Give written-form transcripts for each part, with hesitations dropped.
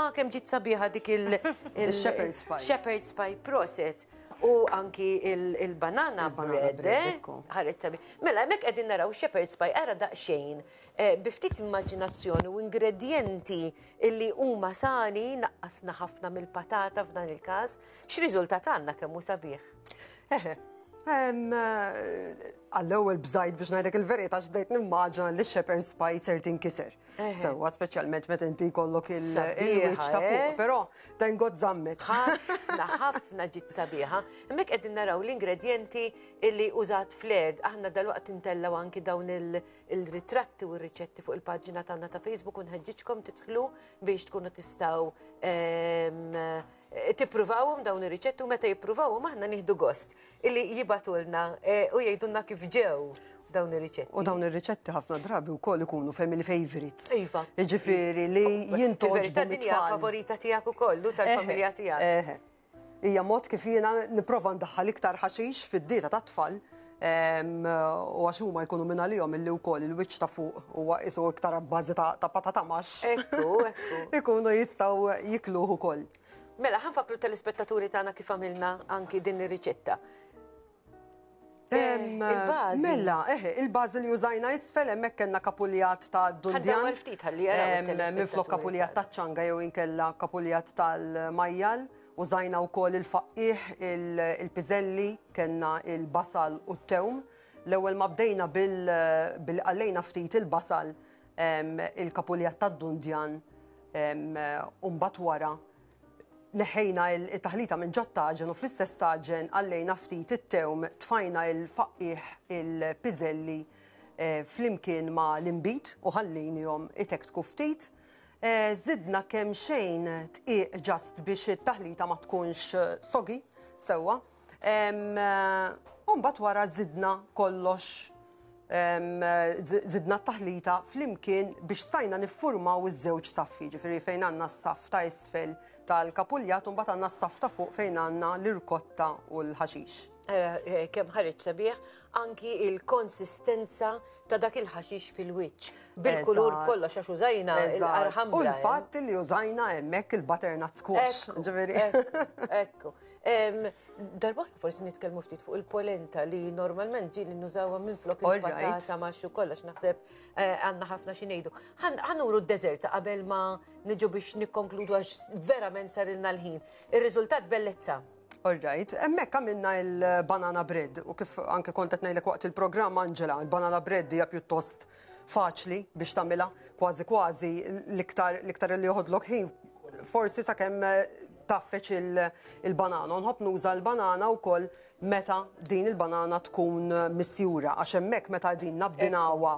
Imma kemm ġiet sabiħa dik il- Shepherd's pie. Shepherd's pie proset. U anki il-banana bread, eh? ħareġ sabiħ. Mela, hemmhekk qegħdin naraw shepherd's pie ara daqsxejn eh, bi ftit immaġinazzjoni u ingredjenti illi huma sani naqqasna ħafna mill-patata f'dan il-każ. X'riżultat għandna kemm hu sabiħ? Eħe, għall-ewwel bżajt biex ngħidlek il-verità x'bdejt nimmaġina li shepherd's pie ser tinkiser. Sewwa, speċjalment meta inti jkollok il-wiċċ ta' fuq, eh? però thank God żammet. Ħafna, ħafna ġiet sabiħa. Hemmhekk qegħdin naraw l-ingredjenti illi użat fl-erd. Aħna dalwaqt intellaw anki dawn il-ritratti u r-riċetti fuq il-paġna tagħna ta' Facebook u nħeġġiġkom tidħlu biex tkunu tistgħu tippruvawhom dawn ir-riċetti u meta jippruvawhom aħna nieħdu gost illi jibagħtulna eh, u jgħidulna kif ġew dawn ir-riċetti. U dawn ir-riċetti ħafna drabi wkoll ikunu family favorites. Iva. Jiġifieri li jintgħoġbu din hija favorita tiegħek ukoll u tal-familja tiegħek. Hija mod kif jiena nipprova ndaħħal iktar ħaxix fid-dieta tat-tfal u għax huma jkunu minn għalihom illi wkoll il-wiċċ ta' fuq huwa qisu iktar abbażi ta' patata maxx. Ekku, ekku. Ikunu jistgħu jikluh ukoll. Mela, ħa nfakkru telespettaturi tagħna kif għamilna anki din ir-riċetta. Il-bażi. Mela, eħe, il-bażi li użajna isfel hemmhekk kellna kapuljat ta' dundjan. Ħa ftit ħalli jaraw. Minflok kapuljat ta' ċanga jew inkella kapuljat tal-majjal. Użajna wkoll il-faqqiegħ, il-piżelli, kellna il-basal u t-tewm. L-ewwel ma bdejna bil qallejna ftit il-basal, il-kapuljat tad-dundjan u mbagħad wara neħħejna il-taħlita minn ġot-taġen u fl-istess taġen qallejna ftit it-tewm, tfajna il-faqqiegħ, il-piżelli flimkien ma' l-inbid u ħallejnihom itektku ftit. Żidna kemxejn dqiq just biex it-taħlita ma tkunx soggy sewwa. U mbagħad wara żidna kollox żidna t-taħlita flimkien biex stajna niffurmaw iż-żewġ saffi, ġifieri fejn għandna s-saff ta' isfel tal-kapuljat u mbagħad għandna s-saff ta' fuq fejn għandna l-irkotta u l-ħaxix. Kemm ħareġ sabiħ anki il-konsistenza ta' dak il-ħaxix fil-wiċċ. Bil-kulur kollox għax użajna il-arħam. U l-fatt li użajna hemmhekk il-butternut squash. Ġifieri. Ekku. Darba forsi nitkellmu ftit fuq il-polenta li normalment ġieli nużawha minflok il-patata ma' xu kollox naħseb eh, għandna ħafna xi ngħidu. Ħanuru d-deżerta qabel ma niġu biex nikkonkludu għax verament sarilna l-ħin. Ir-riżultat bellezza. All right, hemmhekk għamilna il-banana bread u kif anke kont qed ngħidlek waqt il-programm Angela, il-banana bread hija pjuttost faċli biex tagħmilha, kważi kważi l-iktar l-iktar li joħodlok ħin forsi sakemm taffeċ il-banana. Nħobb nuża l-banana wkoll meta din il-banana tkun misjura għax hemmhekk meta din nabbinawha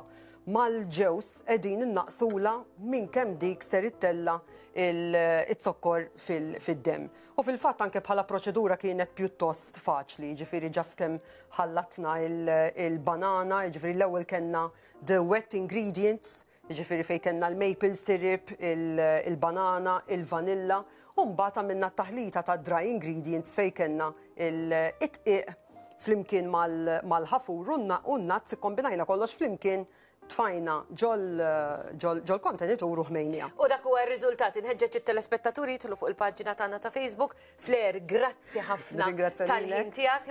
mal-ġewż qegħdin innaqsula minn kemm dik ser ittella il-zokkor fid-demm. U fil-fatt anke bħala proċedura kienet pjuttost faċli, jiġifieri just kemm ħallatna il-banana, jiġifieri l-ewwel kellna the wet ingredients, jiġifieri fejn kellna l-maple syrup, il-banana, il-vanilla, u mbagħad għamilna t-taħlita ta' dry ingredients fejn kellna it-tqiq flimkien mal-ħafur u n-nuts, ikkombinajna kollox flimkien tfajna ġol-kontenitur u ħmejniha. U dak huwa r-riżultat. Inħeġġeġ it-telespettaturi jidħlu fuq il-paġna tagħna ta' Facebook. Flair, grazzi ħafna tal-ħin tiegħek.